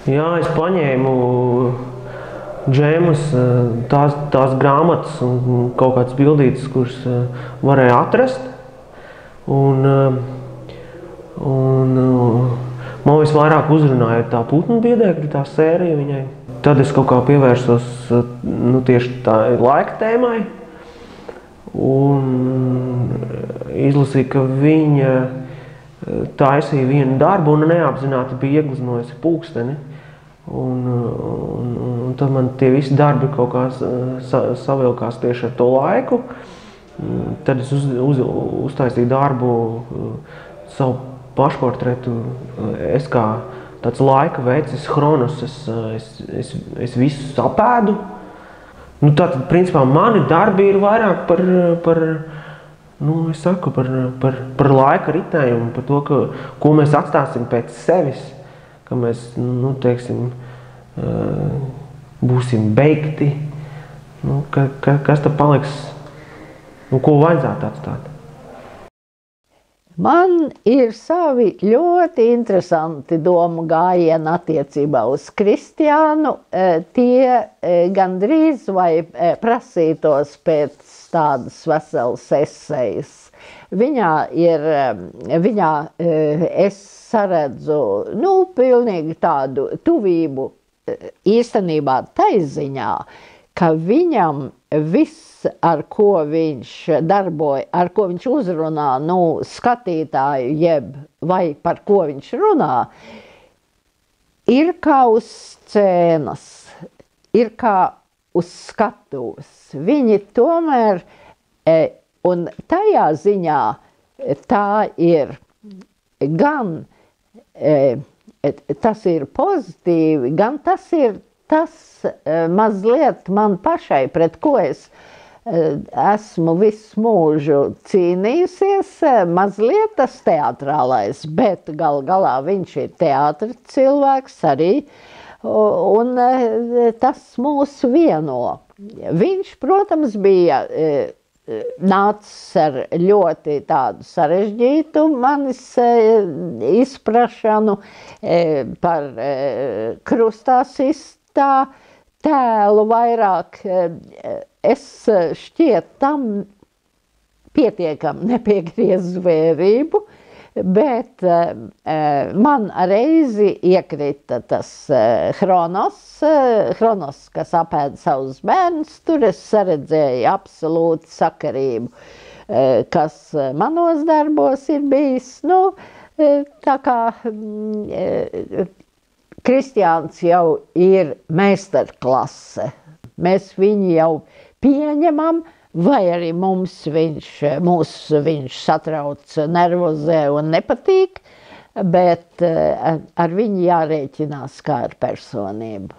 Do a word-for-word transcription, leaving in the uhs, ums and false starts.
Jā, es paņēmu džēmas, tās, tās grāmatas un kaut kādas bildītes, kuras varēja atrast. Un, un man visvairāk uzrunāja tā putnu biedēkļa, tā sērija viņai. Tad es kaut kā pievērsos nu, tieši tā laika tēmai. Un izlasīju, ka viņa taisīja vienu darbu un neapzināti bija iegleznojusi pulksteni. Un, un, un tad man tie visi darbi kaut kā sa, savilkās tieši ar to laiku. Tad es uz, uz, uztaisīju darbu, savu pašportretu. Es kā tāds laika vecis, Hronos, es, es, es, es visu sapēdu. Nu, tātad, principā, mani darbi ir vairāk par, par, nu, es saku, par, par, par laika ritējumu, par to, ka, ko mēs atstāsim pēc sevis, ka mēs, nu, teiksim, būsim beigti, nu, ka, ka, kas tad paliks, nu, ko vajadzētu atstāt. Man ir savi ļoti interesanti domu gājieni attiecībā uz Kristiānu. Tie gandrīz vai prasītos pēc tādas veselas esejas. Viņā ir, viņā es saredzu, nu, pilnīgi tādu tuvību īstenībā taiziņā, ka viņam viss, ar ko viņš darboja, ar ko viņš uzrunā, nu, skatītāju, jeb vai par ko viņš runā, ir kā uz scēnas, ir kā uz skatuves. Viņi tomēr, un tajā ziņā tā ir gan, tas ir pozitīvi, gan tas ir tas mazliet man pašai, pret ko es esmu visu mūžu cīnījusies, mazliet tas teatrālais, bet gal galā viņš ir teātra cilvēks arī, un tas mūs vieno. Viņš, protams, bija nācis ar ļoti tādu sarežģītu manis izprašanu par krustā sistā tēlu vairāk. Es šķiet tam pietiekam nepiegriezu vērību, bet man reizi iekrita tas Hronos, Hronos, kas apēda savus bērnus, tur es saredzēju absolūti sakarību, kas manos darbos ir bijis. Nu, tā kā Kristiāns jau ir meistarklase, mēs viņu jau pieņemam, vai arī mums viņš, mūs viņš satrauc, nervozē un nepatīk, bet ar viņu jārēķinās kā ar personību.